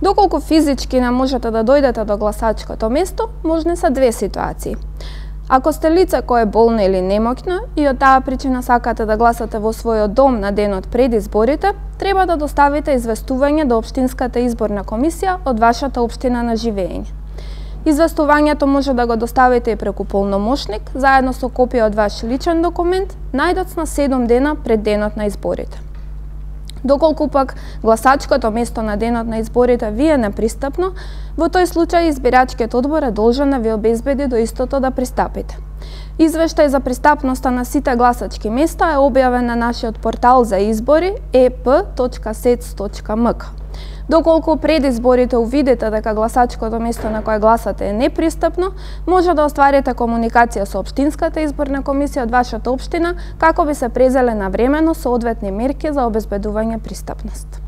Доколку физички не можете да дојдете до гласачкото место, можни се две ситуации. Ако сте лице кое е болно или немоќно и од таа причина сакате да гласате во својот дом на денот пред изборите, треба да доставите известување до Општинската изборна комисија од вашата општина на живење. Известувањето може да го доставите и преку полномошник, заедно со копија од ваш личен документ, најдоцна 7 дена пред денот на изборите. Доколку пак гласачкото место на денот на изборите ви е непристапно, во тој случај избирачкиот одбор е должен да ви обезбеди до истото да пристапите. Извештај за пристапноста на сите гласачки места е објавен на нашиот портал за избори ep.sec.mk. Доколку пред изборите увидите дека гласачкото место на кое гласате е непристапно, може да остварите комуникација со Општинската изборна комисија од вашата општина како би се презеле навремено соодветни мерки за обезбедување пристапност.